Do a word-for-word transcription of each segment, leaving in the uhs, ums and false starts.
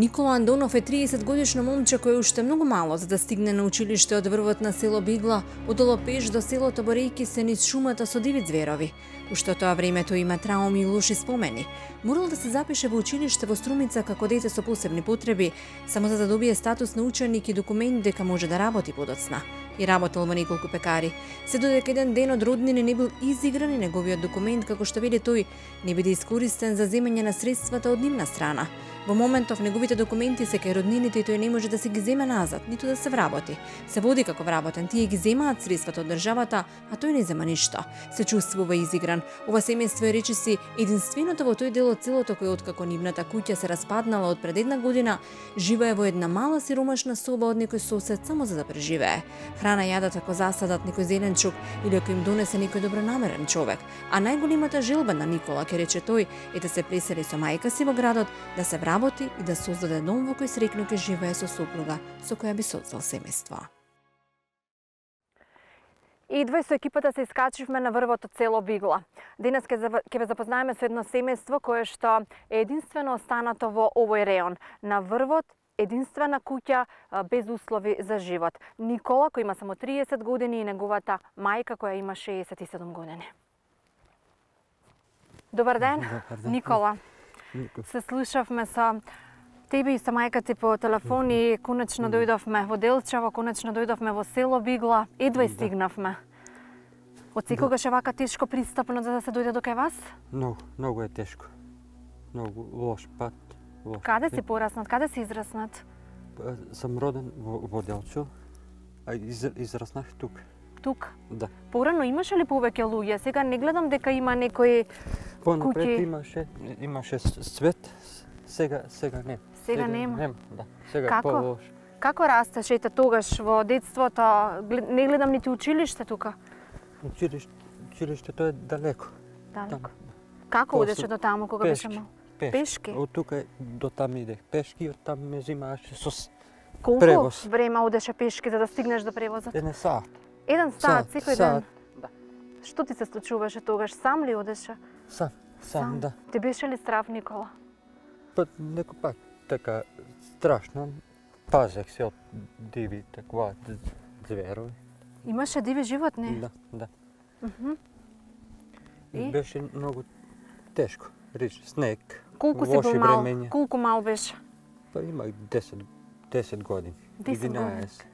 Никола Андонов е триесет годишно момче кој уште многу мало за да стигне на училиште од врвот на село Бигла, одоло пеш до селото борејќи се низ шумата со диви зверови. Уште тоа времето има трауми и лоши спомени. Морал да се запише во училиште во Струмица како дете со посебни потреби, само за да добие статус на ученик и документ дека може да работи подоцна. И работел во неколку пекари. Се додека еден ден од роднини не бил изигран и неговиот документ, како што вели тој, не биде искористен за земење на средствата од нивна страна. Во моментов неговите документи се кај роднините и тој не може да се ги земе назад, ниту да се вработи. Се води како вработен, тие ги земаат средствата од државата, а тој не зема ништо. Се чувствува изигран. Ова семејство е речиси единственото во тој дел од селото кој откако нивната куќа се распаднала од пред една година, живее во една мала сиромашна соба од некој сосед само за да преживее. Храна јадат ако засадат некој зеленчук или ако им донесе некој добронамерен човек. А најголемата желба на Никола, ке рече тој, е да се пресели со мајка си во градот, да се работи и да создаде дом во кој среќно ќе живее со сопруга со која би создал семејство. И двој со екипата се искачивме на врвот од село Бигла. Денес ќе ве запознаеме со едно семејство кое што е единствено останато во овој реон. На врвот единствена куќа без услови за живот. Никола кој има само триесет години и неговата мајка која има шеесет и седум години. Добар ден, Добар ден. Никола. Се слушавме со тебе и со мајка ти по телефон и конечно дојдовме во Делчево, конечно дојдовме во село Бигла, едва и стигнавме. Од секогаш е вака тешко пристапно за да се дојде до кај вас? Многу, многу е тешко. Многу лош пат. Лош. Каде си пораснат? Каде си израснат? Сам роден во, во Делчо, а из, израснах тук. Тук? Да. Порано имаше ли повеќе луѓе? Сега не гледам дека има некои Понапред куќи. имаше, имаше свет, сега, сега не. Сега нема? Нема, да. Сега е Како? по-лош. Како растеше ете тогаш во детството? Глед- Не гледам нити училиште тука. Училиште, училиштето е далеко. Далеко. Там. Како После одеше до таму кога пешки. беше мал? Пешки. Пешки? Од тука до там идех пешки и од там ме взимаше со с- Колку превоз. време одеше пешки за да стигнеш до превозот? еден саат. Еден саат секој ден. саат, да. Што ти се случуваше тогаш? Сам ли одеше? Сам, сам, да. Ти беше ли страв, Никола? Па некој пат така страшно пазех се од диви таква д- зверови. Имаше диви животни? Да, да. Мгм. И? Беше многу тешко. Рич, снег. Колку си лоши бил мал? времења. Колку мал беше? Па имах десет, десет години. десет години. единаесет.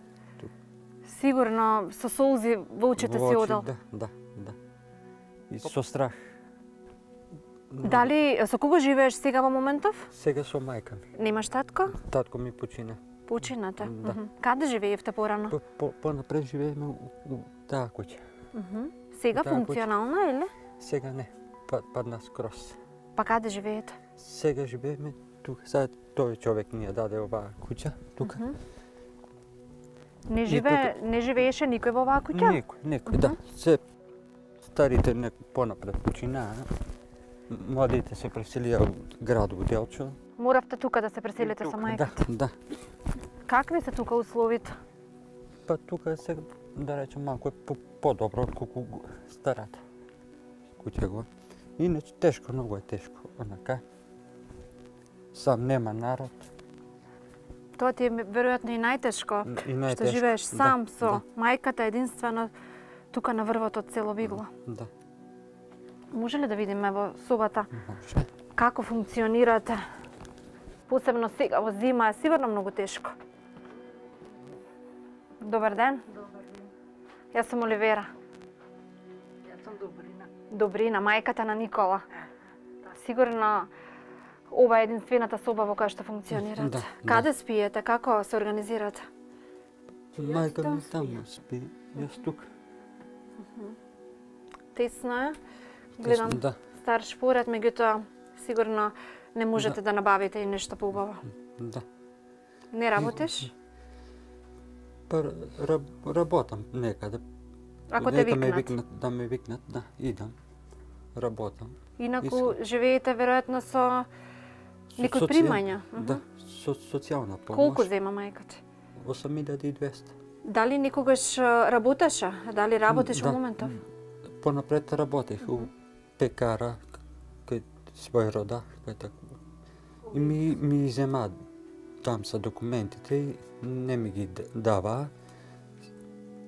Сигурно со солзи во очите Во си очи, одел. Да, да, да. И со страх. Дали со кого живееш сега во моментов? Сега со мајка ми. Немаш татко? Татко ми почина. Почината. Да. Мгм. Каде живеевте порано? По, по, понапред живееме у, у таа куќа. Мгм. Сега Таа функционална или? Сега не. Па, падна скроз. Па каде живеете? Сега живееме тука. Сега тој човек ни ја даде оваа куќа тука. Мгм. Не живее, не живееше никој во оваа куќа? Некој, некој, да. Се старите не понапред починаа. Младите се преселија во градот Делчо. Моравте тука да се преселите со Тука, мајка. Да, да. Какви се тука условите? Па тука се, да речем, малку е по- подобро отколку го- старата куќа го. Иначе тешко, многу е тешко. Онака. Сам нема народ. Тоа ти е веројатно и најтешко, И што најтешко. живееш сам Да, со да. мајката единствено тука на врвот од село Бигла. Да. Може ли да видиме во собата Може. како функционирате? Посебно сега во зима е сигурно многу тешко. Добар ден. Добар ден. Јас сум Оливера. Јас сум Добрина. Добрина, мајката на Никола. Сигурно ова е единствената соба во која што функционирате. Да, Каде да. спиете? Како се организирате? Мајка там ми таму спи, јас тука. Тесно е. Гледам Да. стар шпоред, меѓутоа сигурно не можете да набавите и нешто поубаво. Да. Не работиш? Па раб, работам некаде. Ако те Нека ме викнат. викнат, да ме викнат, да, идам. Работам. Инаку Искам. живеете веројатно со Со некои соција- примања. Да, со социјална помош. Колку зема мајката? осум илјади и двесте. Дали никогаш а, работеше? Дали работиш во Да. моментов? Понапред работех у пекара кај свој рода, кај така. И ми ми зема там са документите и не ми ги даваа.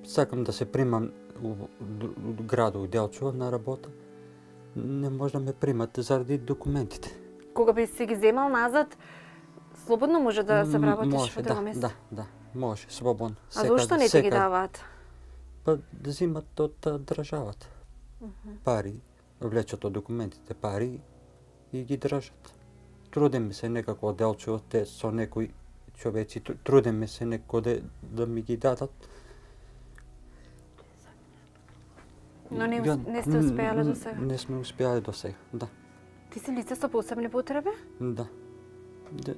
Сакам да се примам у градот у Делчево на работа. Не може да ме примат заради документите. Кога би си ги земал назад, слободно може да се вработиш Може, во друго да, место? да, да, може, слободно. А зошто не ти ги даваат? Па да зимат од а, државата. Пари, влечат од документите пари и ги држат. Трудиме се некако од Делчево, те со некои човеци, трудиме се некако да, да ми ги дадат. Но не, Ја, не сте успеале до сега? Не сме успеале до сега, да. Ти си лице со посебни потреби? Да. Де,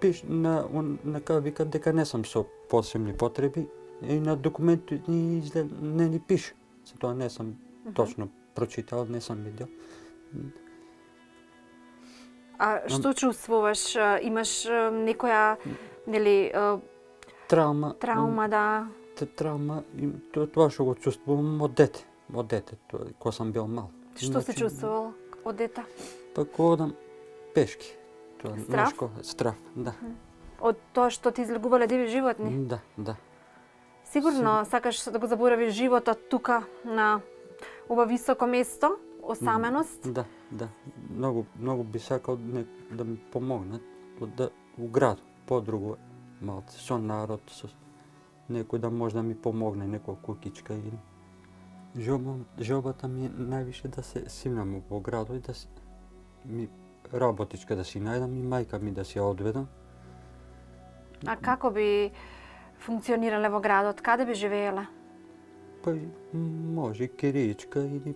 пиш, на, на кај викат дека не сум со посебни потреби и на документот ни изглед, не ни пише. За тоа не сум uh -huh. точно прочитал, не сум видел. А што чувствуваш? Имаш некоја, нели, Травма. травма, да? Травма, и тоа, тоа што го чувствувам од дете. Од дете, тоа, кога сам бил мал. Што се чувствувал од дете? Па кога одам пешки. Тоа, Страв? Нешко, страв, да. Од тоа што ти излегувале диви животни? Да, да. Сигурно сакаш да го заборавиш животот тука на ова високо место, осаменост? Да, да. Многу, многу би сакал не, да ми помогнат да у град, подруго малце, со народ, со некој да може да ми помогне, некоја кукичка или Жоба, жобата ми е највише да се симнам во градот и да си, ми работичка да си најдам и мајка ми да си ја одведам. А како би функционирале во градот? Каде би живееле? Па може кириичка или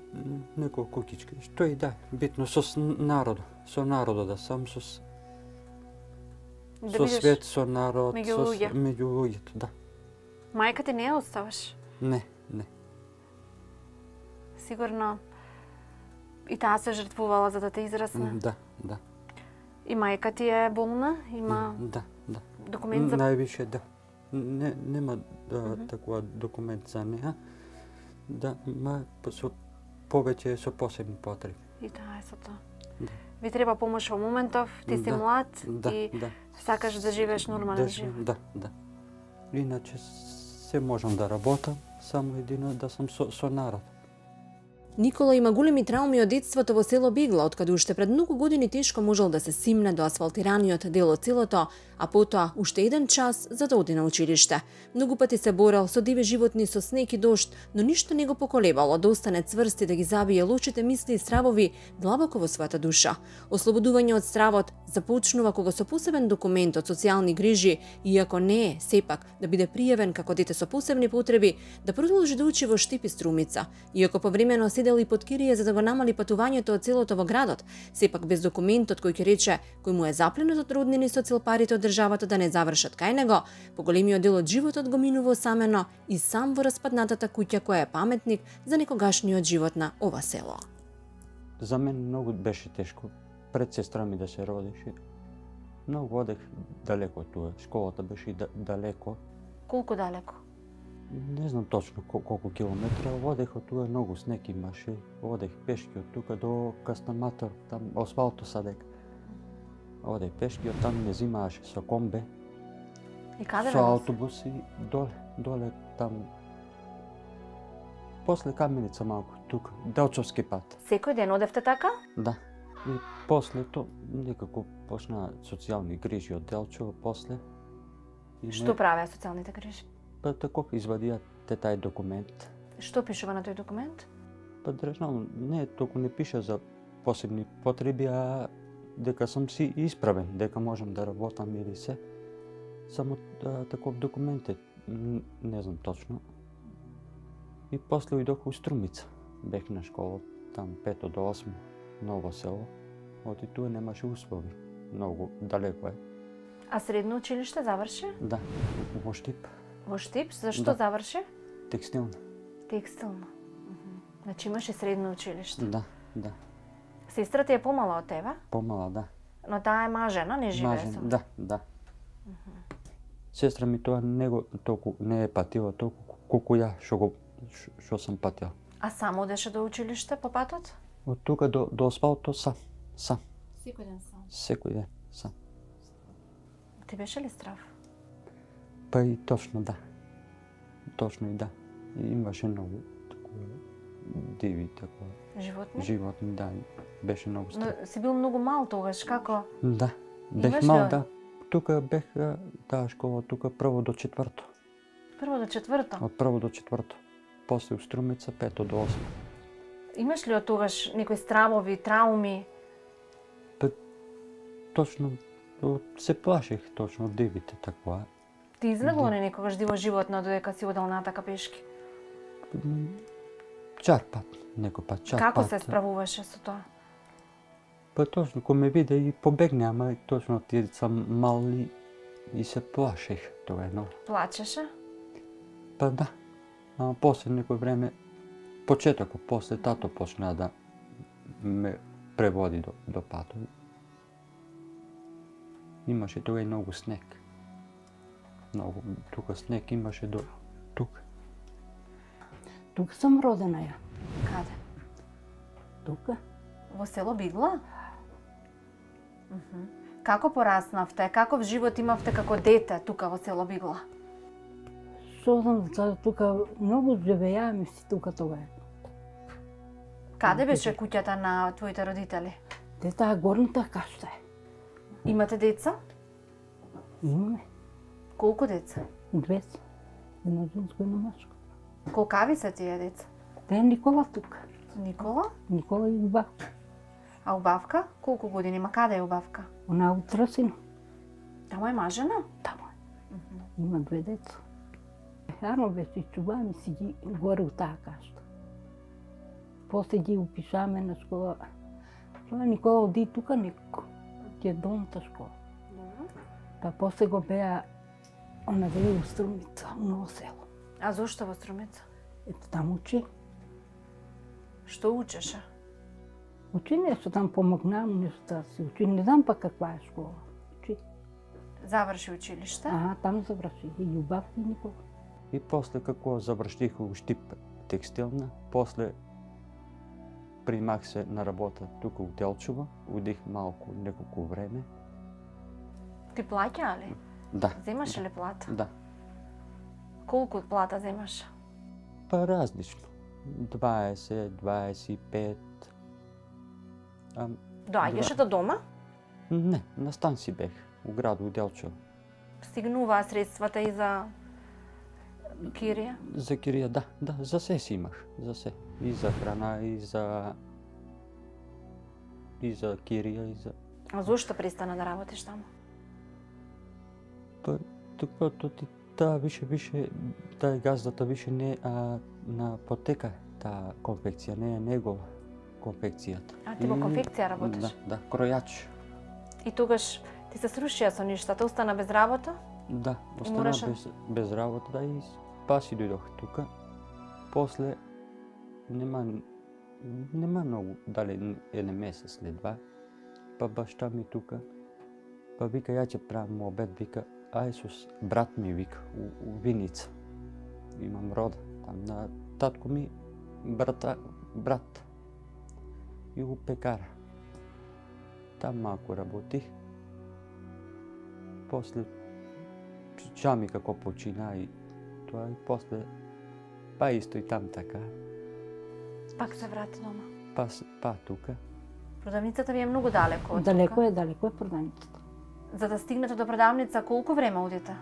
некоја кукичка. Што и да, битно со народот, со народот да сам со Да со бидеш свет, со народ, меѓу со луѓе. меѓу луѓето, да. Мајка ти не ја оставаш? Не, не. Сигурно и таа се жртвувала за да те израсне. Да, да. И мајка ти е болна? Има Да, да. документ за... Највише да. Не, нема да, mm -hmm. такова документ за неа. Да, ма со повеќе е со посебни потреби. И таа е со тоа. Да. Ви треба помош во моментов, ти си Да, млад Да, и да. сакаш да живееш нормален Да, живот. да, да. Иначе се можам да работам, само едино да сум со, со народ. Никола има големи трауми од детството во село Бигла, откаде уште пред многу години тешко можел да се симне до асфалтираниот дел од селото, а потоа уште еден час за да оди на училиште. Многу пати се борел со диви животни, со снег и дожд, но ништо не го поколебало да остане цврст и да ги забие лошите мисли и стравови длабоко во својата душа. Ослободување од стравот започнува кога со посебен документ од социјални грижи, иако не е сепак да биде пријавен како дете со посебни потреби, да продолжи да учи во Штип и Струмица. Иако повремено седел и под кирија за да го намали патувањето од селото во градот, сепак без документот кој ќе рече кој му е запленет од роднини со цел парите од државата да не завршат кај него, поголемиот дел од животот го минува осамено и сам во распаднатата куќа која е паметник за некогашниот живот на ова село. За мен многу беше тешко. Пред сестра ми да се родеше. Многу одех далеко од туа. Школата беше да, далеко. Колку далеко? Не знам точно кол колку километра. Одех од туа, многу снег имаше. Одех пешки од тука до Кастаматор, там асфалто садек. Одех пешки, од там не зимааше со комбе. И каде со бе? автобус и доле, доле там. После Каменица малку, тука, Делчовски пат. Секој ден одевте така? Да. И после то некако почна социјални грижи од Делчево после. И Што правеа социјалните грижи? Па тако извадија те тај документ. Што пишува на тој документ? Па држално, не, толку не пише за посебни потреби, а дека сум си исправен, дека можам да работам или се. Само да, таков документ е, не знам точно. И после ујдох у Струмица. Бех на школа, там пето до осмо, ново село. Оти туа немаше услови. Многу далеко е. А средно училиште заврши? Да, во Штип, Во Штип? Зашто Да. заврши? текстилна. Текстилно. Мгм. Значи имаше средно училиште. Да, да. Сестра ти е помала од тебе, Помала, да. но таа е мажена, не живее Мажен, со. да, да. Сестра ми тоа не го толку не е патила толку колку ја што го ш- што сам патил. А само одеше до училиште по патот? Од тука до до асфалто сам, сам, Секој ден сам. секој ден сам. Ти беше ли страв? Па и точно да. Точно и да. И имаше многу такова диви, такова Животни? животни, да. Беше многу страв. Но си бил многу мал тогаш, како? Да. Бех Имаш ли мал, од- да. Тука бех, а, таа школа, тука прво до четврто. Прво до четврто. Од прво до четврто. После у Струмица, пето до осмо. Имаш ли од тогаш некои стравови, трауми? Точно, о, се плашех точно од дивите, такова. Ти излегло ли некогаш диво животно додека си одел натака пешки? М, Чар пат, некој пат, чар Како пат. се справуваше со тоа? Па точно, кога ме виде и побегне, ама и точно тие сам мали и се плашех тоа едно. Плачеше? Па да, ама после некој време, почетокот, после тато почна да ме преводи до, до патот. Имаше тога и многу снег. Многу, тука снег имаше до тука. Тука сум родена ја. Каде? Тука. Во село Бигла? Мгм. Како пораснавте? Каков живот имавте како дете тука во село Бигла? Што знам, за тука многу живејаме си тука тога. Каде беше куќата на твоите родители? Те таа горната кашта е. Имате деца? Имаме Колку деца? двеста. Едно женско, едно машко. Колкави се тие деца? Те е Никола тука. Никола? Никола и Уба. А убавка? Колку години има? Каде е убавка? Она у Трасино. Тамо е мажена? Тамо е. Има две деца. Рано беше чуваме си ги горе у таа кашта. После ги упишаме на школа. Тоа Никола оди тука некако. Ти е долната школа. Па после го беа она вели у Струмица, у Ново село. А зошто во Струмица? Ето там учи. Што учеше? Учи нешто там, помогнам нешто да се учи. Не знам па каква е школа. Учи. Заврши училиште? Ага, там заврши. И Љубав и Никола. И после како заврших у Штип текстилна, после примах се на работа тука у Делчево, удих малку неколку време. Ти плаќа ли? Да. Земаш ли плата? Да. Колку плата земаш? Па различно. дваесет, дваесет и пет. А, Доаѓаше до дома? не, на станци бех, у граду у Делчево. Стигнуваа средствата и за кирија? За кирија, да, да, за се си имах, за се. И за храна, и за... и за кирија, и за... А зошто пристана да работиш таму? Па, тука, то ти, таа више, више, таа газдата више не а, на потека, таа конфекција, не е негова конфекцијата. А ти во И- конфекција работиш? Да, да, кројач. И тогаш ти се срушија со ништата, остана без работа? Да, остана мораше- без, без работа, да, и паси дојдох тука. После, нема, нема многу, дали еден месец или два, па башта ми тука, па вика, ја ќе правам обед, вика, ај сус, брат ми вика, у, у Виница. Имам рода, там на татко ми, брата, брат. И у пекара. Там малку работих. После чами како почина и тоа и после па исто и там така, Пак се врати дома. па, с- па тука. Продавницата ви е многу далеко од Далеко тука. е, далеко е продавницата. За да стигнете до продавница, колку време одите?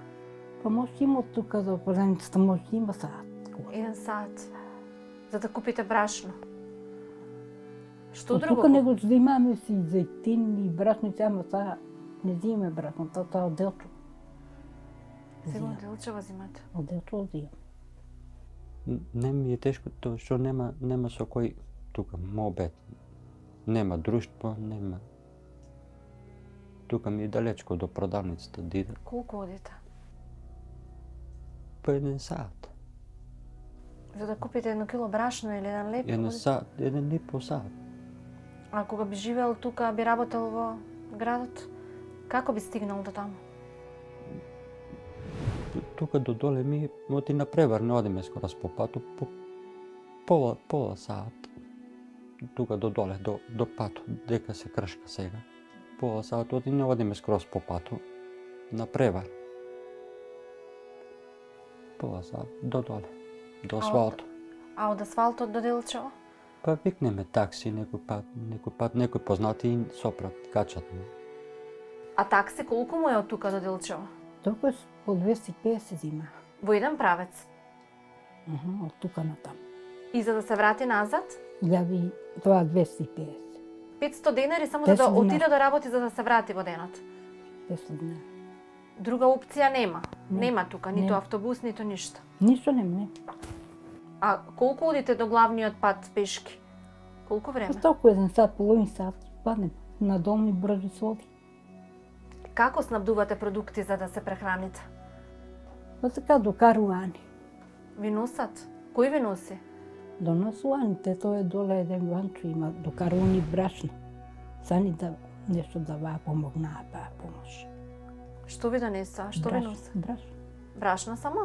Па може има од тука до продавницата, може има саат. Еден саат. За да купите брашно. Што Од друго? тука него взимаме си зејтин и брашници, ама сега не взимаме брашно, тоа тоа од Делчо. Сега Взимам. од Делчево взимате. Од Делчо взимам. Н- Не ми е тешко тоа што нема нема со кој тука мобет. Нема друштво, нема. Тука ми е далечко до продавницата да идам. Колку одите? По еден саат. За да купите едно кило брашно или еден леп? Еден одите? саат, еден и по саат. А кога би живеел тука, би работел во градот, како би стигнал до таму? Тука до доле ми оти на превар, не одиме скорос по пату, по пола, пола саат. Тука до доле, до, до пату, дека се кршка сега. Пола саат оти не одиме скорос по пату. на превар. Полаза до доле, до асфалто. А од асфалтот до Делчево? Па викнеме такси некој пат, некој пат некој познати и сопрат, качат. А такси колку му е од тука до Делчево? Толку е по двеста и песет зима. Во еден правец. Аха, од тука на там. И за да се врати назад? Илјади, тоа двеста и песет. петсто денари само за да петсто отиде денари. да работи за да се врати во денот. петсто денари. Друга опција нема. Не. Нема тука, ниту Не. автобус, ниту ништо. Ништо нема, не. А колку одите до главниот пат пешки? Колку време? Па толку еден сат, половин сат, паднем на дом и брзо се оди. Како снабдувате продукти за да се прехраните? Па така до каруани. Ви носат? Кој ви носи? До насуаните, тоа е доле еден ванчо има, до каруани брашно. Сани да нешто да ваа помогнаа, па помош. Што ви донесоа? Што ви носи? Брашно. Брашно само?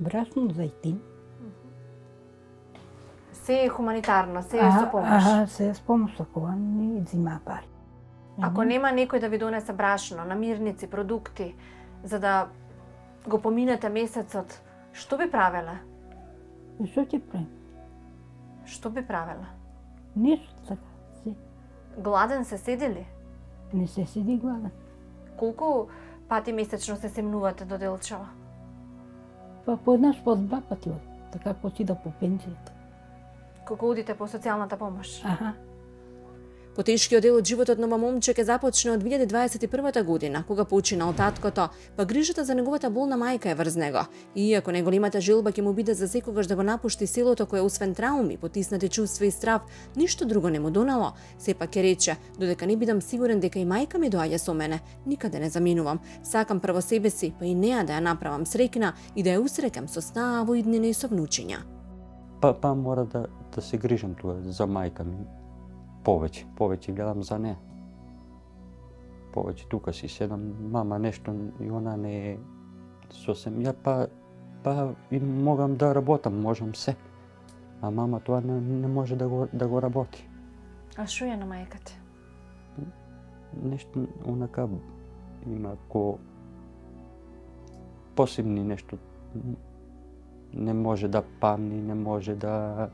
Брашно, зајтин. Се е хуманитарно, се е со помош. Аха, се е с помош, кога ни зима пари. Ако нема некој да ви донесе брашно, намирници, продукти, за да го поминете месецот, што би правеле? И што ќе правим? Што би правеле? Ништо така. Се. Гладен се седили? Не се седи гладен. Колку пати месечно се семнувате до Делчево? Па по еднаш, по два пати од. Така почида по пензијата. Кога одите по социјалната помош? Аха. Потешкиот дел од животот на ова момче ќе започне од две илјади дваесет и прва година, кога почина од таткото, па грижата за неговата болна мајка е врз него. И иако неголемата желба ќе му биде за секогаш да го напушти селото кое освен трауми, потиснати чувства и страв, ништо друго не му донало, сепак ќе рече, додека не бидам сигурен дека и мајка ми доаѓа со мене, никаде не заминувам. Сакам прво себе си, па и неа да ја направам среќна и да ја усрекам со снаа во иднина и со внучиња. Па, па мора да, да се грижам тоа за мајка ми. Повеќе, повеќе гледам за неа. Повеќе тука си седам, мама нешто и она не е сосем. Ја па, па и могам да работам, можам се. А мама тоа не, не може да го, да го работи. А шо е на мајката? Нешто онака има ко посебни нешто. Не може да памни, не може да...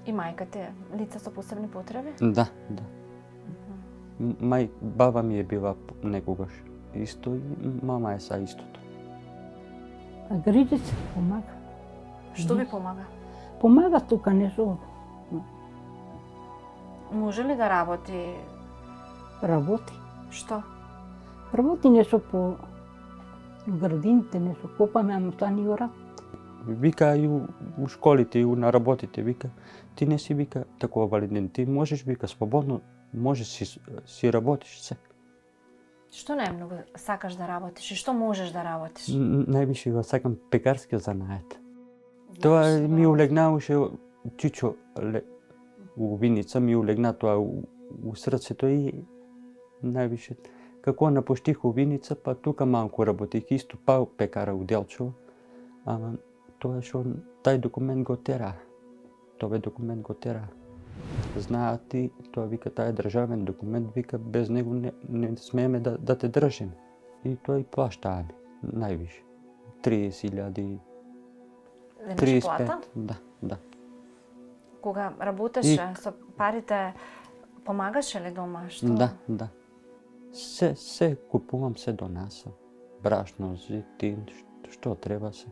И мајката е лице со посебни потреби? Да, да. Мај, баба ми е била некогаш исто и мама е са истото. А грижи се, помага. Што ви помага? Помага тука нешто. Може ли да работи? Работи. Што? Работи нешто по градините, нешто копаме, ама тоа ни го работи. Вика и у, у школите и у на работите, вика, ти не си вика такова валиден, ти можеш вика слободно, можеш си, си работиш се. Што најмногу сакаш да работиш и што можеш да работиш? Н- Највише го сакам пекарски занает. Тоа ми улегнаваше чичо ле, у виница, ми улегна тоа у, у срцето и највише како напуштих у виница, па тука малку работих исто па пекара у Делчево, ама тоа што тај документ го тера. Тоа документ го тера. Знаат и тоа вика тај е државен документ, вика без него не, не смееме да, да те држиме. И тоа и плаштааме највише. триесет илјади, тридесет и пет, да, да. Кога работеше И- со парите, помагаше ли дома? Што? Да, да. Се, се купувам, се донасам. Брашно, зетин, што, што треба се.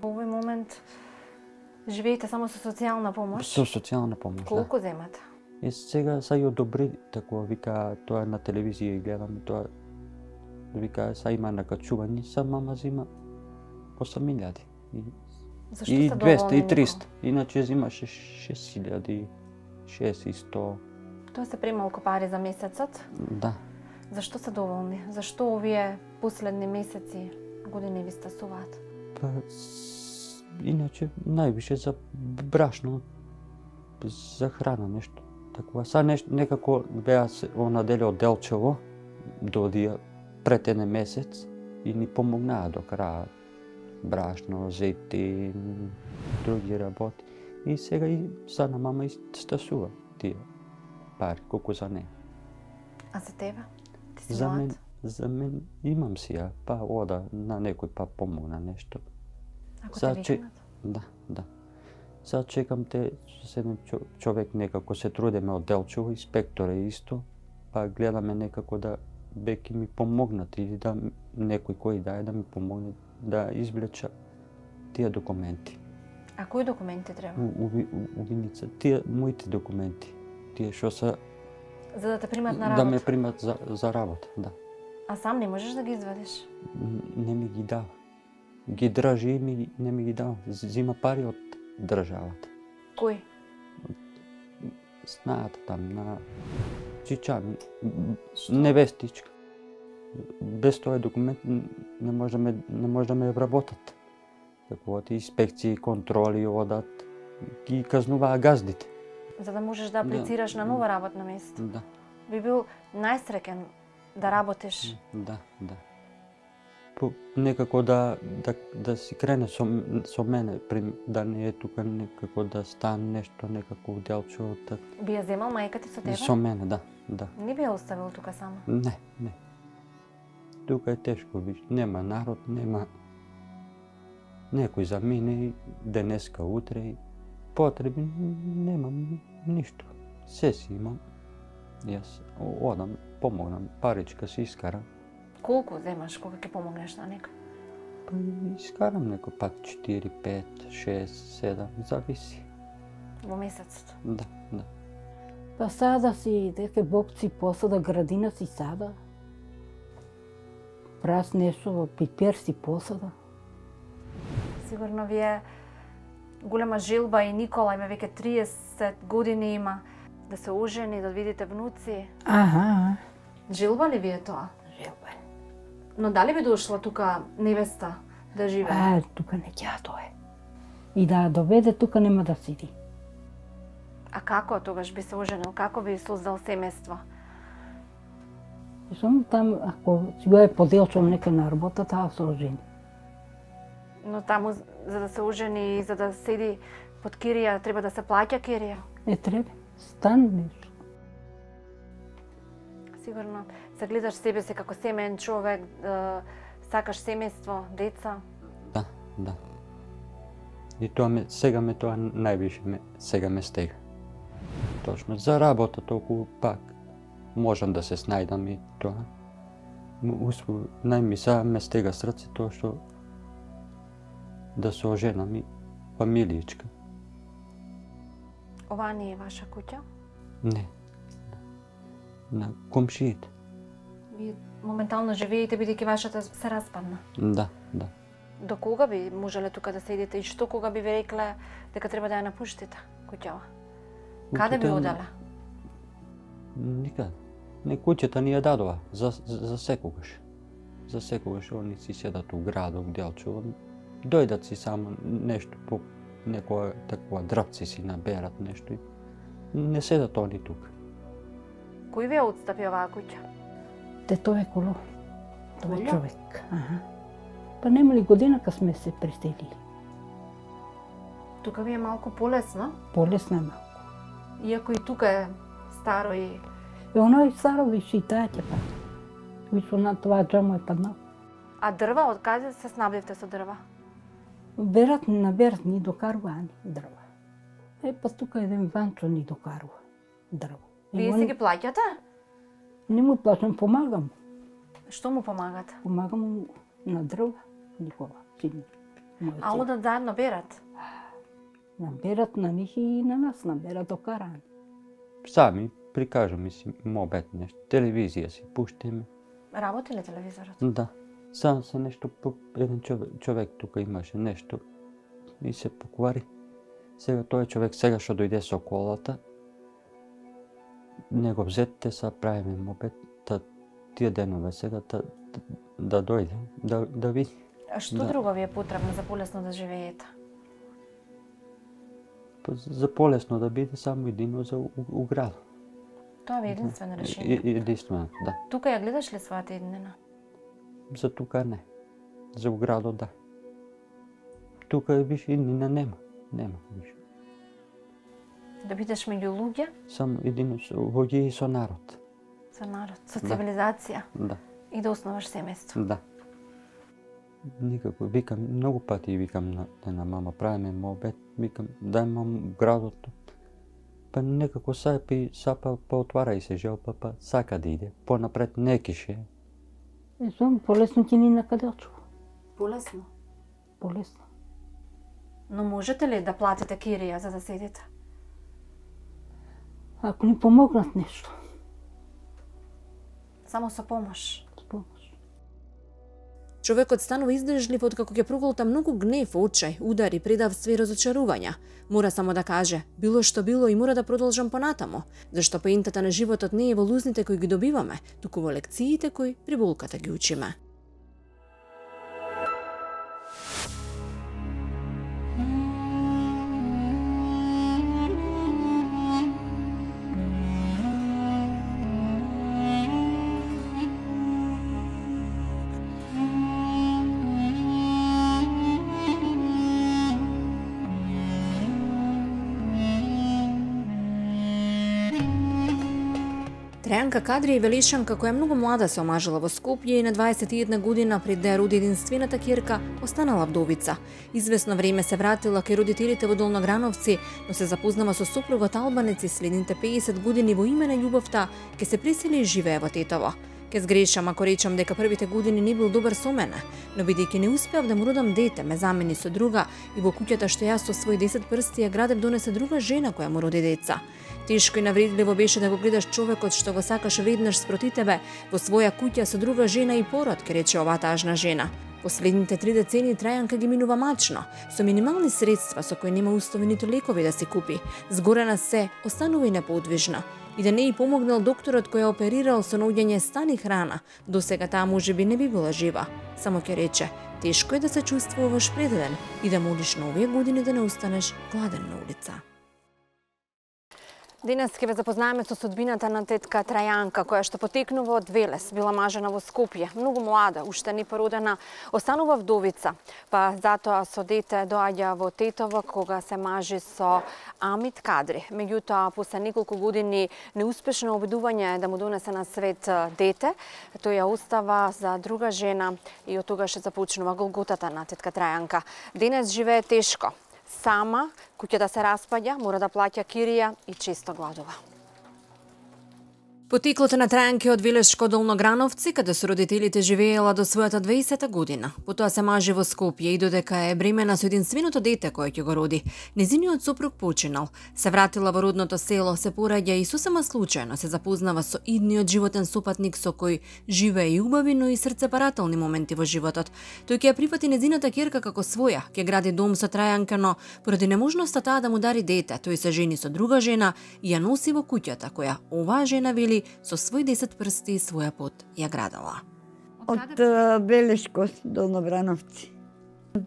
Во овој момент живеете само со социјална помош? Со социјална помош, да. Колку земате? И сега са и одобри такова, вика, тоа на телевизија и гледам, тоа вика, са има накачување, са мама зима осем илјади. И, Зашто и се двеста, доволни и триста. Иначе зимаше шест илјади, шест и сто. Тоа се премалку пари за месецот. Да. Зашто се доволни? Зашто овие последни месеци, години ви стасуваат? Па, с- иначе највише за брашно, за храна нешто. Такова, са нешто, некако беа се она деле од Делчево, додија пред еден месец и ни помогнаа до краја. Брашно, зетин, други работи. И сега и са на мама и стасува тие пари, колку за неа. А за тебе? Ти си За млад? мен, За мен имам си ја, па ода на некој па помогна нешто. Ако Сега те че- викнат. Да, да. Сега чекам те со еден чо- човек некако се трудиме од Делчево, инспектор е исто, па гледаме некако да беки ми помогнат или да м- некој кој да е да ми помогне да извлеча тие документи. А кои документи треба? У, у, у, у Виница, тие моите документи, тие што се За да те примат на да работа. ме примат за, за работа, да. А сам не можеш да ги извадиш? Н- Не ми ги дава. Ги држи и ми, не ми ги дава. Зима пари од државата. Кој? Знаат там на чичами, невестичка. Без тој документ н- не може да ме, не може да ме вработат. Како од инспекции, контроли одат, ги казнуваа газдите. За да можеш да аплицираш на нова работно место. Да, Би бил најсреќен да работиш. да, да. По, некако да, да, да си крене со, м- со мене, при, да не е тука некако да стане нешто, некако у Делчево, так, Би ја земал мајка ти со тебе? со мене, да, да. Не би ја оставил тука сама. Не, не. Тука е тешко, виж, нема народ, нема некој за мене и денеска, утре и потреби, немам ништо. Се си имам. Јас о- одам, помогнам, паричка си искарам. Колку земаш кога ќе помогнеш на некој? Па искарам некој пат четири, пет, шест, седам, зависи. Во месецот. Да, да. Па сада си, дека бобци посада, градина си сада. Прас нешто, пипер си посада. Сигурно ви е голема жилба и Никола има веќе триесет години има да се ожени, да видите внуци. Аха, Жилба ли ви е тоа? желба. Но дали би дошла тука невеста да живее? А, тука не ќе дое. И да доведе тука нема да сиди. А како тогаш би се оженил? Како би создал семејство? И само там, ако си го е поделчом нека на работа, таа се ожени. Но таму за да се ожени и за да седи под кирија треба да се плаќа кирија. Не треба, стан нешто. Сигурно се гледаш себе си како семеен човек, да сакаш семејство, деца. Да, да. И тоа ме, сега ме тоа највише ме, сега ме стега. Точно, за работа толку пак можам да се снајдам и тоа. М- Успо, најми сега ме стега срце тоа што да се оженам и фамилијичка. Ова не е ваша куќа? Не. На комшиите. Вие моментално живеете бидејќи вашата се распадна. Да, да. До кога би можеле тука да седите и што кога би ви рекле дека треба да ја напуштите куќава? Каде би Куќата- оделе? Никаде. Не, куќата ни ја дадова за, за, за секогаш. За секогаш они си седат у градот, Делчево. Дојдат си само нешто по некоја такова дрвци си наберат нешто и не седат они тука. Кој ви ја отстапи оваа куќа? Те тоа е коло. Тоа е Коло? човек. Аха. Па нема ли година кога сме се преселили? Тука ви е малку полесно, Полесно е малко. иако и тука е старо и И оној старо виши и таа ќе падне. Вишо на тоа џамо е паднал. а дрва од каде се снабдивте со дрва? Берат ни наберат ни докарува ни дрва. Е, па тука еден Ванчо ни докарува дрва. Е, Вие он- си ги плаќате? Не му плашам, помагам. Што му помагате? Помагам му на дрва, Никола, син. мојот А син. одат заедно берат? Наберат на нив и на нас, наберат докарани. Сами прикажу ми си мобет нешто, телевизија си пуштиме. Работи ли телевизорот? Да. Сам се нешто по еден човек, човек тука имаше нешто и се поквари. Сега тој човек сега што дојде со колата, не го взетте, са правиме мобет, та тие денове сега та, да, да дојде, да, да види. А што Да. друго ви е потребно за полесно да живеете? Па за полесно да биде само едино за у, у градот. Тоа ви е единствено И, решение. и, единствено, да. Тука ја гледаш ли својата иднина? За тука не. За у градот да. Тука виш иднина нема. Нема виш. Да бидеш меѓу луѓе Само едино со луѓе и со народ. со народ, со Да. цивилизација. Да. и да основаш семејство. Да. Никако, викам, многу пати викам на, на мама, правиме мобет, викам, дај мам градот. Па некако сапи, сапа, па отвара и се жел, па, па сака да иде. Понапред не кише. Е, зом, полесно ќе ни накаде очува. Полесно. Полесно. Но можете ли да платите кирија за да седите? Ако ни помогнат нешто. Само со помош. С помош. Човекот станува издржлив откако ќе проголта многу гнев, очај, удари, предавство и разочарувања. Мора само да каже, било што било и мора да продолжам понатамо, зашто поентата на животот не е во лузните кои ги добиваме, туку во лекциите кои при болката ги учиме. Трајанка Кадри е велишанка која многу млада се омажила во Скопје и на дваесет и една година пред да ја роди единствената ќерка останала вдовица. Извесно време се вратила кај родителите во Долнограновци, но се запознава со сопругот албанец и следните пеесет години во име на љубовта ке се пресели и живее во Тетово. Ке сгрешам ако речам дека првите години не бил добар со мене, но бидејќи не успеав да му родам дете, ме замени со друга и во куќата што јас со свој десет прсти ја градев донесе друга жена која му роди деца. Тешко и навредливо беше да го гледаш човекот што го сакаш веднаш спроти тебе во своја куќа со друга жена и пород, ке рече оваа тажна жена. Последните три децени Трајанка ги минува мачно, со минимални средства со кои нема устови ниту лекови да си купи. Згорена се, останува и неподвижна. И да не и помогнал докторот кој ја оперирал со наоѓање стани храна, досега таа можеби не би била жива. Само ќе рече, тешко е да се чувствуваш предаден и да молиш на овие години да не останеш гладен на улица. Денес ќе ве запознаеме со судбината на тетка Трајанка, која што потекнува од Велес, била мажена во Скопје, многу млада, уште не породена, останува вдовица, па затоа со дете доаѓа во Тетово кога се мажи со Амит Кадри. Меѓутоа, после неколку години неуспешно обидување да му донесе на свет дете, тој ја остава за друга жена и од тогаш започнува голготата на тетка Трајанка. Денес живее тешко. Сама, куќата се распаѓа, мора да плаќа кирија и често гладува. Потеклото на Трајанка од Велешко Долнограновци, каде со родителите живеела до својата дваесета година. Потоа се мажи во Скопје и додека е бремена со единственото дете кое ќе го роди. Незиниот сопруг починал. Се вратила во родното село, се пораѓа и сосема случајно се запознава со идниот животен сопатник со кој живее и убави, но и срцепарателни моменти во животот. Тој ќе ја прифати незината ќерка како своја, ќе гради дом со Трајанка, но поради неможноста таа да му дари дете, тој се жени со друга жена и ја носи во куќата која оваа жена вели со свој десет прсти и своја пот ја градала. Од Белешко до Долнограновци.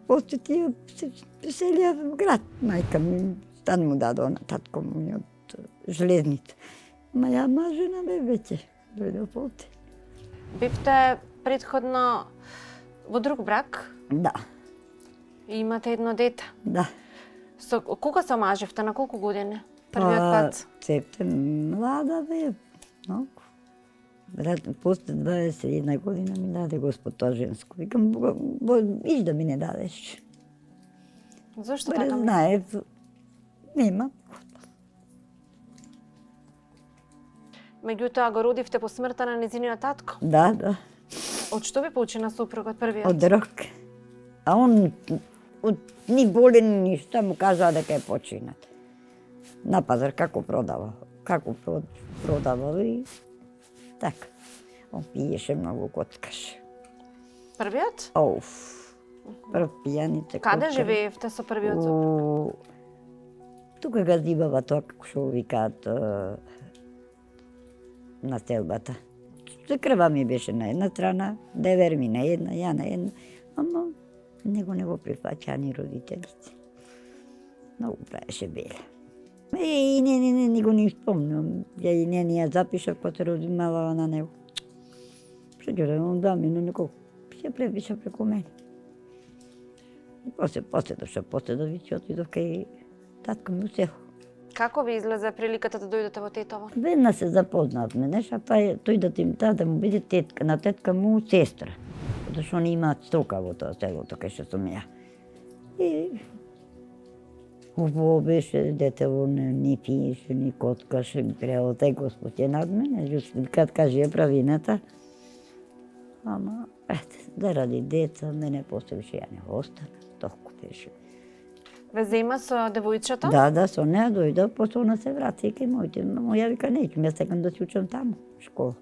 После тие се преселија во град. Мајка ми стан му даде на татко ми од железница. Ма ја мажена бе веќе, дојде полте. Бевте предходно во друг брак? Да, И имате едно дете. да. Со кога се омаживте, на колку години? Првиот пат? Цепте млада бе, многу. Брат, после дваесет и една година ми даде Господ тоа женско. Викам, Бога, иш да ми не дадеш. Зошто Бре, така? знаев, нема. Меѓутоа го родивте по смртта на незиниот татко. Да, да. Од што ви почина супругот првиот? Од рок. А он од ни болен ништа му кажа дека е починат. На пазар како продава, како продава и така. Он пиеше многу, коткаше. Првиот? Оуф. Прв пијаница. Каде живеевте со првиот супруг? Тука газибава тоа како што викаат на селбата. Крва ми беше на една страна, девер ми на една, ја на една, ама него не го прифаќаа ни родителите. Многу правеше беле. Е, и не, не, не, не го ни спомнам. Ја и не, не ја запишав кога се родимала на него. Што ќе да он да ми, но некој се препиша преку мене. И после, после дошо, после да вичи, отидов кај татко ми у село. Како ви излезе приликата да дојдете во Тетово? Веднаш се запознавме, нешто, па е, тој да ти да, да му биде тетка, на тетка му сестра. Зашто они имаат стока во тоа селото кај што сум ја. И убаво беше, детево не ни пиеше, ни коткаше, прело тај Господ е над мене, кад каже е правината. Ама, ете, заради деца, мене после више ја не остана, толку беше. Ве зема со девојчето? Да, да, со неа дојдов, после она се врати и кај моите. Мамо, ја вика, неќам, јас сакам да си учам таму, школа.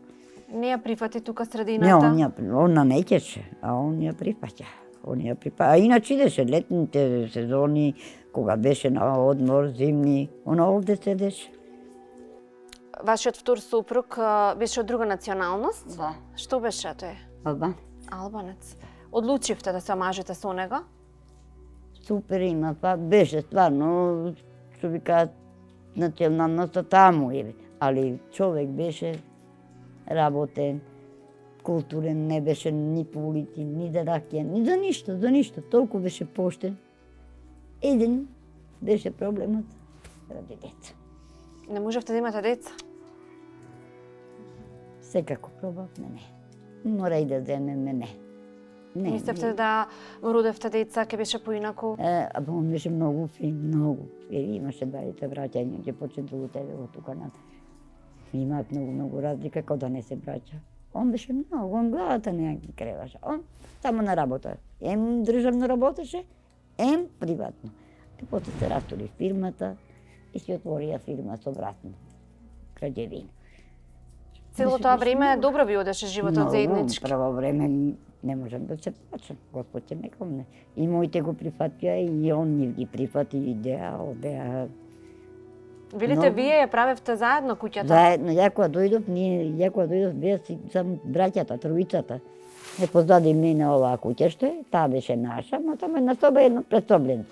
Не ја прифати тука Не, средината? он ја, она неќеше, а он ја прифаќа. Он ја прифаќа. А иначе идеше летните сезони, кога беше на одмор, зимни, она овде седеше. Вашиот втор супруг а, беше од друга националност? Да. Што беше тој? Албан. Албанец. Одлучивте да се омажете со него? Супер има, па беше стварно, што ви кажат, националноста таму е, али човек беше работен, културен, не беше ни полити, ни за ракија, ни за ништо, за ништо, толку беше поштен. Еден беше проблемот ради деца. Не можевте да имате деца? Секако пробавме, не. Мора и да земеме, не. Не, Мислевте да родевте деца, ке беше поинаку? Е, а он беше многу фин, многу. Е, имаше двајца браќа, и ќе почне другу тебе од тука над. Имаат многу, многу разлика, како да не се браќа. Он беше многу, он главата не ја креваше. Он само на работа. Ем државно работеше, ем приватно. И после се растори фирмата и си отворија фирма со братно. Граѓевина. Цело тоа време добро ви одеше животот заеднички? Прво време не можам да се плачам. Господ ќе ме комне. И моите го прифатија и он нив ги прифати и идеја, одеа. Велите, Много. вие ја правевте заедно куќата? Заедно, ја кога дојдов, ние, ја кога дојдов, беа си само браќата, тројицата. Не позади мене оваа куќа што е, таа беше наша, но само една соба едно предсоблено.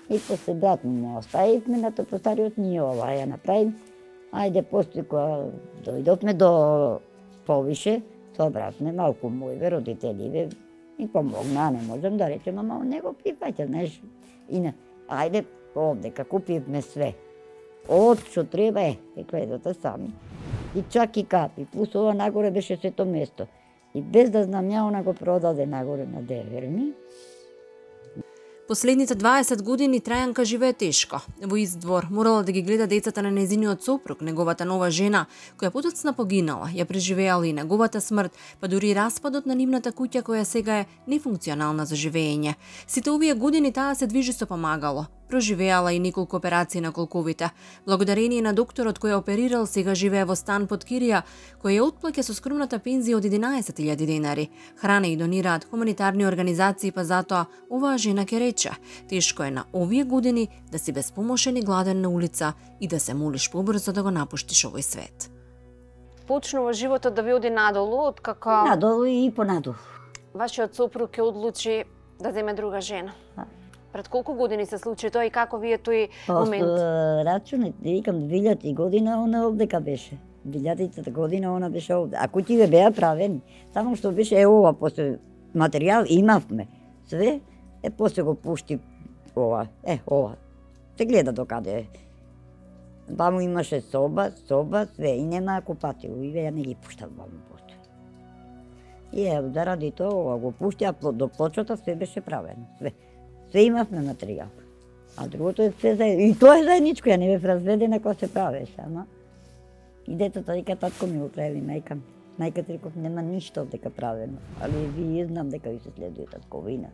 И после брат му оставивме на тоа постариот, ние оваа ја направим. Ајде, после кога дојдовме до повише, со братме, малку мојве, родителиве, и помогна, не можам да речем, ама он не го прифаќа, знаеш. И на, ајде, овдека купивме све. Од што треба е, е гледате сами. И чак и капи, плюс ова нагоре беше сето место. И без да знам ја, она го продаде нагоре на Деверни. Последните дваесет години Трајанка живее тешко. Во Издвор морала да ги гледа децата на незиниот сопруг, неговата нова жена, која потоцна погинала, ја преживеала и неговата смрт, па дури распадот на нивната куќа која сега е нефункционална за живење. Сите овие години таа се движи со помагало. Проживеала и неколку операции на колковите. Благодарение на докторот кој оперирал, сега живее во стан под кирија, кој ја отплаќа со скромната пензија од единаесет илјади денари. Храна и донираат хуманитарни организации, па затоа оваа жена ќе рече: тешко е на овие години да си безпомошен и гладен на улица и да се молиш побрзо да го напуштиш овој свет. Почнува животот да ви оди надолу, откако Надолу и понадолу. вашиот сопруг ќе одлучи да земе друга жена. Да. Пред колку години се случи тоа и како ви е тој Просто момент? рачунет, викам, двилјадна година она овдека беше. двилјадната година она беше овде. А куќите беа правени. Само што беше е ова, после материјал имавме. Све, е после го пушти ова, е ова. Се гледа докаде е. Баму имаше соба, соба, све, и нема купатило, и ја не ги пуштав баму после. И е, заради тоа ова го пушти, а до плочата све беше правено, све. Све имавме материјал. А другото е све заедно. И тоа е заедничко, ја не бев разведена кога се правеше, ама. И детата вика, татко ми го прави, мајка ми. Мајка ти реков, нема ништо дека правено. Али вие знам дека ви се следуе татковина.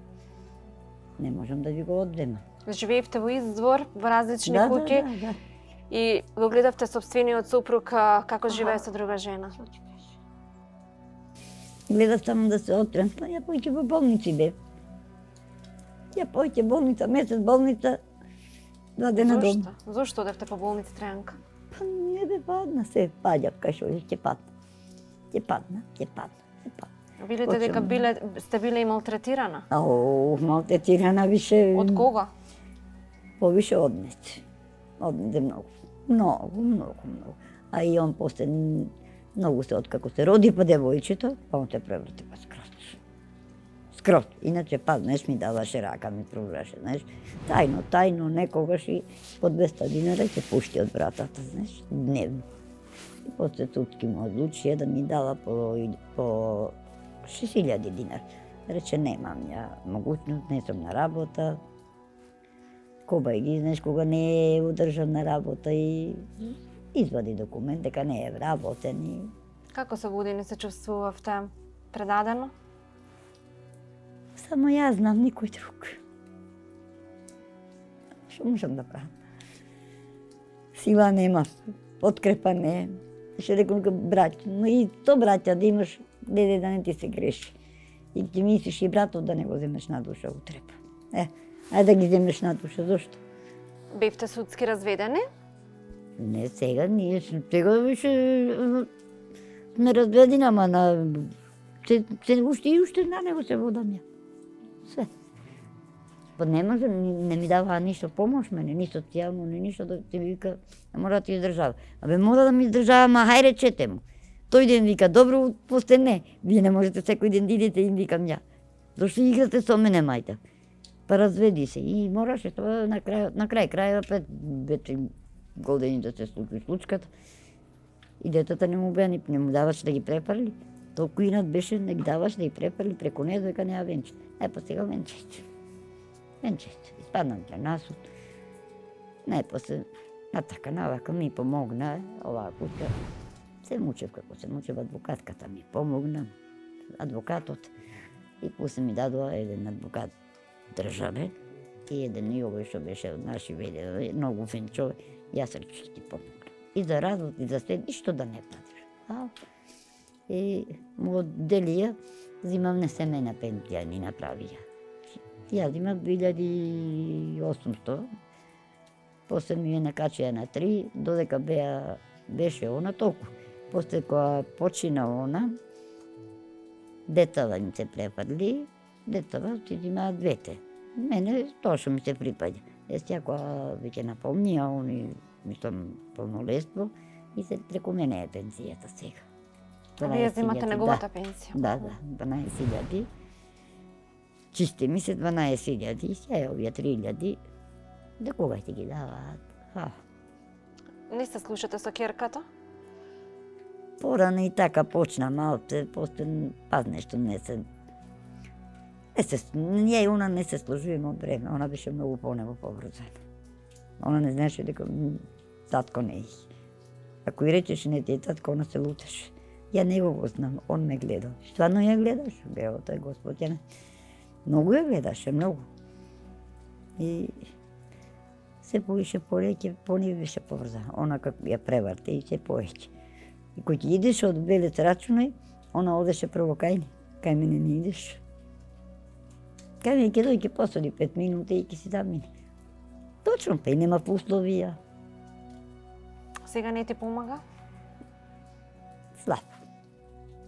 Не можам да ви го одзема. Живеевте во Издвор, во различни Да, да, куќи да, да. и го гледавте собствениот сопруг а, како живее со друга жена. Гледав само да се отрем, па ја појќе во болници бев. Ја појќе болница, месец болница, два дена дом. Зошто? Зошто одевте по болница Трајанка? Па не бе падна, се паѓа, кај шо ќе падна. Ќе падна, ќе падна, ќе падна. Видите дека Почнам. биле, сте биле и малтретирана? Ау, малтретирана више... Од кога? Повише однесе. Однесе многу. Многу, многу, многу. А и он после многу се откако се роди па девојчето, па он се преврати па скратно. скрот. Иначе, па, знаеш, ми даваше рака, ми пружаше, знаеш. Тајно, тајно, некогаш и по двеста динара ќе пушти од братата, знаеш, дневно. И после судски му одлучија да ми дала по, по шест илјади динар. Рече, немам ја могуćност, не сум на работа. Кобај ги, знаеш, кога не е удржана работа и извади документ дека не е вработен и... Како се будини се чувствувавте? Предадено? Само јас знам, никој друг. Што можам да правам? Сила нема, подкрепа не. Ще рекам браќа, но и то браќа да имаш, деде да не ти се греши. И ти мислиш и братот да не го земеш на душа утреба. Е, ајде да ги земеш на душа, зошто? Бевте судски разведени? Не, сега, ние сега више сме разведени, ама на... Се, се, уште и уште на него се водам ја. Све. Па не може, не ми дава ништо помош мене, ни социјално, ни ништо да ти вика, не мора да ти издржава. Абе, мора да ми издржава, ма хај речете му. Тој ден вика, добро, после не. Вие не можете секој ден да идете, им викам ја. Зошто играте со мене, мајта? Па разведи се. И мораше тоа на крај, на крај крајот опет вече години да се случи случката. И детата не му беа, не му даваш да ги препарли. Толку инат беше, не ги даваш да ги препарли преку неа дека неа венче. Е, па сега венчеќе. Венчеќе. Испаднам на насуд. Не, после на така, на вака ми помогна оваа куќа. Се мучев како се мучев, адвокатката ми помогна, адвокатот. И после ми дадоа еден адвокат државен и еден и овој што беше од наши веле, многу фин човек. Јас рече ќе ти помогна. И за развод, и за све, ништо да не платиш. А, и му одделија, зимам не семејна пензија ни направија. Јас имам две илјади и осумсто, после ми ја накачија на три, додека беа, беше она толку. После кога почина она, детава им се препарли, детава си имаа двете. Мене тоа што ми се припаѓа. Јас кога веќе напомнија, они, мислам, полнолетство, и се преку мене е пензијата сега. А вие земате неговата пензија? Да, да, дванаесет илјади. Чисти ми се дванаесет илјади, сега овие три илјади, да кога ти ги даваат? А. Не се слушате со ќерката? Порано и така почна малце, после паз нешто не се... Не се, ние и она не се сложуваме од време, она беше многу по-него поврзана. Она не знаеше дека татко не е. Ако и речеше не ти е татко, она се лутеше. Ја него го знам, он ме гледал. Стварно ја гледаш, бео тој Господ ја не. Многу ја гледаше, многу. И се повише повеќе, пони беше поврзана. Она како ја преварте и се повеќе. И кој ќе идеш од Белец рачунај, она одеше прво кај ни. Кај мене не идеш. Кај мене ќе дојде, ќе посади пет минути и ќе си замине. Точно, па и нема условија. Сега не ти помага? Слабо.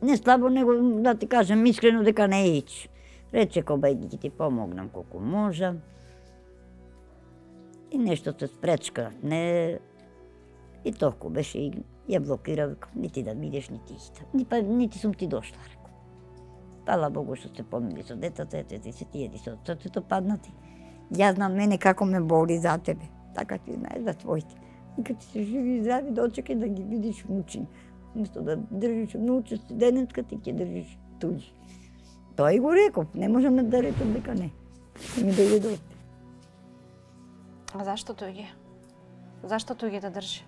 Не слабо, него да ти кажам искрено дека не ич. Рече кобај ќе ти помогнам колку можам. И нешто се спречка. Не... И толку беше и ја блокира, векам, нити да бидеш, нити иста. Ни, па, нити сум ти дошла, рекам. Фала Богу што се помили со детата, ете ти се тие со срцето паднати. Јас знам мене како ме боли за тебе. Така ти знаеш за твоите. И кога ти се живи и здрави, дочекај да ги видиш внучини. Место да држиш внуче студентка, ти ќе држиш туѓи. Тоа и го реков, не можам да рекам дека не. Ми дојде до. А зашто туѓи? Зашто туѓи да држи?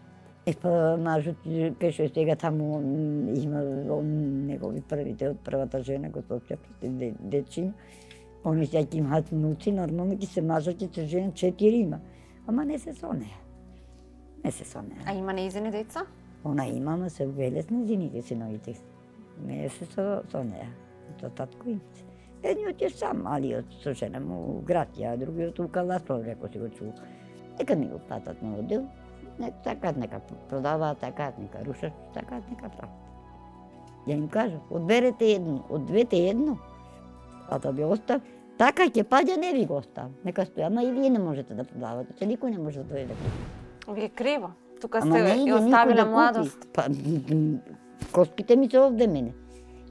Е, па, мажот, пеше сега таму има негови првите од првата жена, го соќа проти дечиња. Они сега ќе имаат внуци, нормално ќе се мажат и се жена, четири има. Ама не се со неа. Не се со неа. А има неизини деца? Она има, ама се велес на зините синовите. Не се со, со неа. Со татко им се. Едниот е сам, малиот со жена му у град, а другиот у Каласпол, реко си го чул. Нека ми го платат на одел. Не, така нека продаваат, така нека рушат, така нека прават. Ја им кажа, одберете едно, од двете едно, а да би остав, така ќе паѓа, не ви го остав. Нека стои, ама и вие не можете да продавате, че никој не може да дојде да купи. Ви е криво. Тука Ама сте не ја иде оставиле никој да младост. Па, коските ми се овде мене.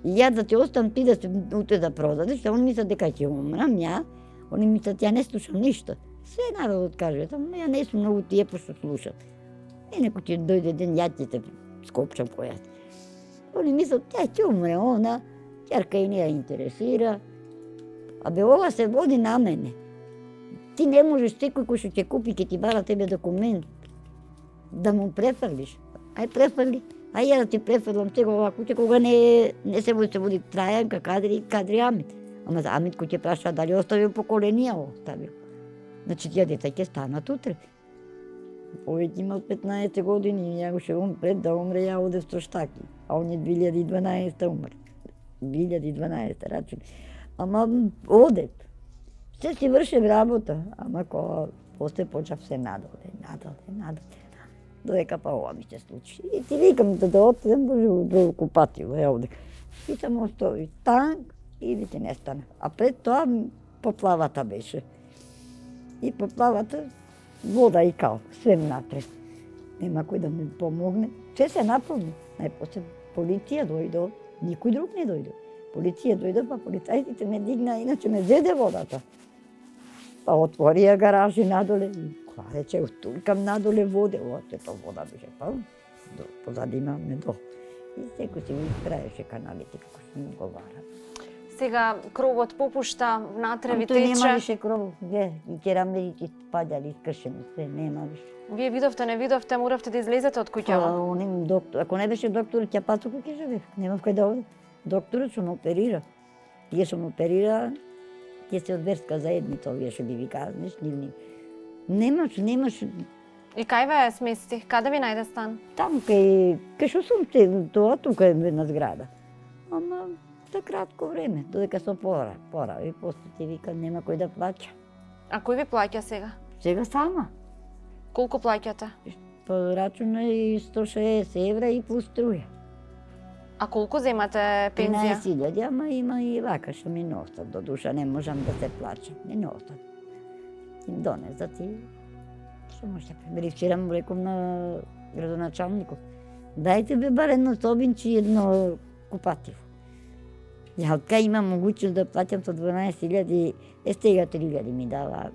И ја да ти оставам ти да се утре да продадеш, а они мислат дека ќе умрам ја, они мислат ја не слушам ништо. Се народот каже, ама ја не сум многу тие пошто слушам. И некој ќе дојде ден, ја ќе те скопчам која. Они мислат, тя ќе умре, она, ќерка и не ја интересира. Абе, ова се води на мене. Ти не можеш секој кој што ќе купи, ќе ти бара тебе документ, да му префрлиш. Ај префрли, ај ја да ти префрлам сега ова куќа, кога не, не се води, се води Трајанка, Кадри, Кадри Амит. Ама за Амит кој ќе праша дали оставил поколенија оставил. Значи тие деца ќе станат утре. Овој има петнаесет години и ја го ше он пред да умре, ја одев со штаки. А он е две илјади и дванаесета умре. две илјади и дванаесета рачун. Ама одев. Се си вршев работа, ама кога после почав се надоле, надоле, надоле. Додека па ова ми се случи. И ти викам да да отидем до купатило, е овде. И само остави танк и ви ти не стана. А пред тоа поплавата беше. И поплавата вода и кал, све напред. Нема кој да ми помогне. Се се наполни. Најпосле полиција дојде, никој друг не дојде. Полиција дојде, па полицајците ме дигна, иначе ме зеде водата. Па отворија гаражи надоле и кога рече, туркам надоле воде, ова сето вода беше, па позади имаме до. И секој си го испраеше каналите, како што ми говорам. Сега кровот попушта, внатре ви Тој нема тече. више кров, ге, и керамелите спаѓали, искршени, све, нема више. Вие видовте, не видовте, моравте да излезете од Па, куќава. оним доктор, ако не беше доктор, ќе пат тука ќе живеев, немав кај да оде. Докторот што ме оперира. Тие што ме оперира, тие се од верска заедница, овие што би ви казнеш, нивни. Немаш, немаш, И кај ве смести? Каде ви најде стан? там кај, кај што сум те, тоа тука е една зграда. Ама за кратко време, додека се пора, пора, и после ти вика нема кој да плаќа. А кој ви плаќа сега? Сега сама. Колку плаќате? По рачун е сто шеесет евра и плюс струја. А колку земате пензија? тринаесет илјади, ама има и вака што ми носат, до душа не можам да се плачам, ми носат. Им донесат и што може да примери. Вчера му реком на градоначалникот, дајте бе бар едно собинче и едно купативо. Ја од кај имам могуćност да платам со дванаесет илјади, е стега три илјади ми дава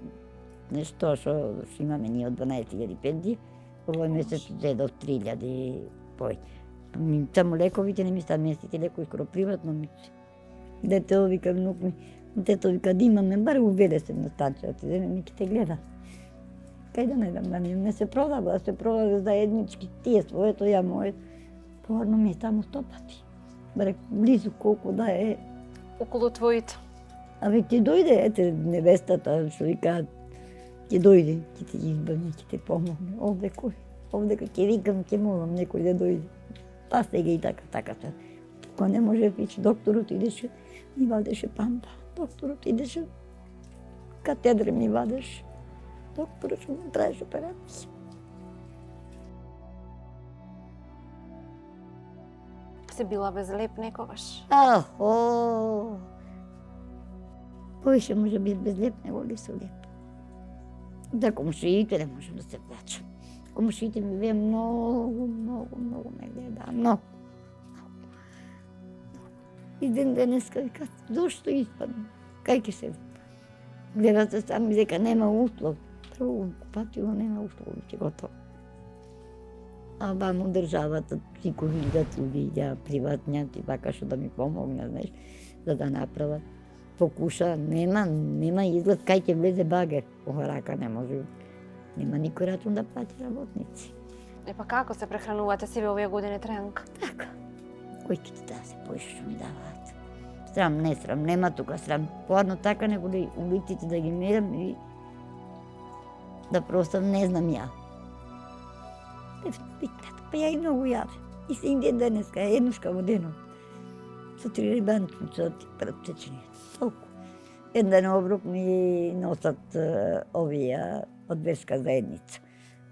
нешто што имаме ние од дванаесет илјади пензија, овој месец зедов три илјади пој. Само лековите не ми стан местите лекови, скоро приватно ми. Дете вика внук ми, дето вика да имаме, бар уведе се на станција, ти не ми ќе те гледа. Кај да не дам да ми не се продава, да се продава заеднички, тие своето, ја моето. Порно ми е само сто пати. Баре близу колку да е. Околу твоите. Абе ќе дојде, ете, невестата, што вика, ќе дојде, ќе те избави, ќе те помогне. Овде кој? Овде ќе викам, ќе молам некој да дојде. Па сега и така, така се. Кога не може вич, докторот идеше, ми вадеше пампа. Докторот идеше, катедра ми вадеше. Докторот што ми правеше операција. Се била безлеп некогаш. А, о. Кој ще може би безлеп него ли се леп? Да, комшиите не можем да се плачам. Комшиите ми вие многу, многу, многу ме гледа, многу. И ден денеска вика, зошто испадна? Кај ќе се гледат се сами дека нема услов. Прво купатило нема услов, ќе готово. А бамо државата си го видат луѓе, приватња, и вака што да ми помогна, знаеш, за да направат. Покуша, нема, нема изглед кај ќе влезе багер. Ова рака не може. Нема никој рачун да плати работници. Е па како се прехранувате сиве овие години, Трајанка? Така. Кој ќе ти да се поише што ми даваат? Срам, не срам, нема тука срам. Поадно така него ли улиците да ги мерам и да просто не знам ја. Па ја и многу јаве. И се иде денеска, еднушка во денот. Со три рибанчица ти претечени. Толку. Еден обрук ми носат овие од верска заедница.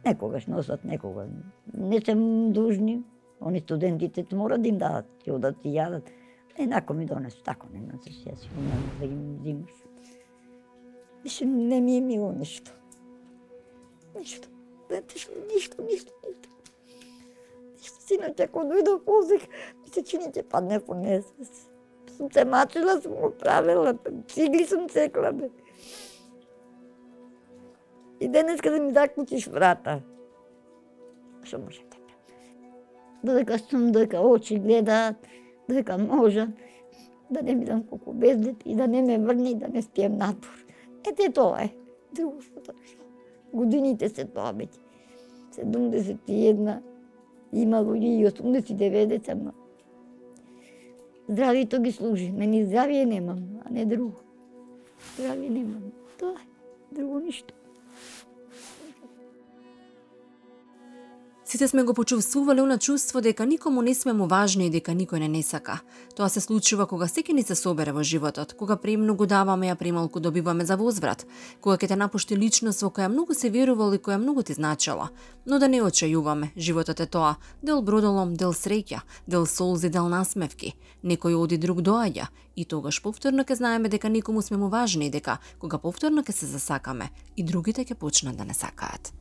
Некогаш носат, некога. Не се дужни. Они студентите мора да им дадат, ќе одат и јадат. Енако ми донесу, тако не носиш, јас не можеш да ги взимаш. Више не ми е мило ништо. Ништо. Знаете што, ништо, ништо, ништо. Ништо, синоќа, кога дојдов позик, месечини ќе падне по несвес. Сум се мачила, сум го правила, цигли сум цекла, бе. И денеска да ми заклучиш врата. Што може да правам? Додека сум, додека очи гледаат, додека можам, да не бидам колку бездет и да не ме врне и да не спием надвор. Ете тоа е. Друго што тоа. Годините се тоа беќе. седумдесет и една, има луѓе и осумдесет и девет, ама здравието ги служи. Мене здравие немам, а не друго. Здравие немам. Тоа е. Друго ништо. Сите сме го почувствувале она чувство дека никому не сме му важни и дека никој не не сака. Тоа се случува кога секи ни се собере во животот, кога премногу даваме, а премалку добиваме за возврат, кога ќе те напушти личност во која многу се верувал и која многу ти значела. Но да не очајуваме, животот е тоа, дел бродолом, дел среќа, дел солзи, дел насмевки. Некој оди, друг доаѓа, и тогаш повторно ќе знаеме дека никому сме му важни и дека кога повторно ќе се засакаме, и другите ќе почнат да не сакаат.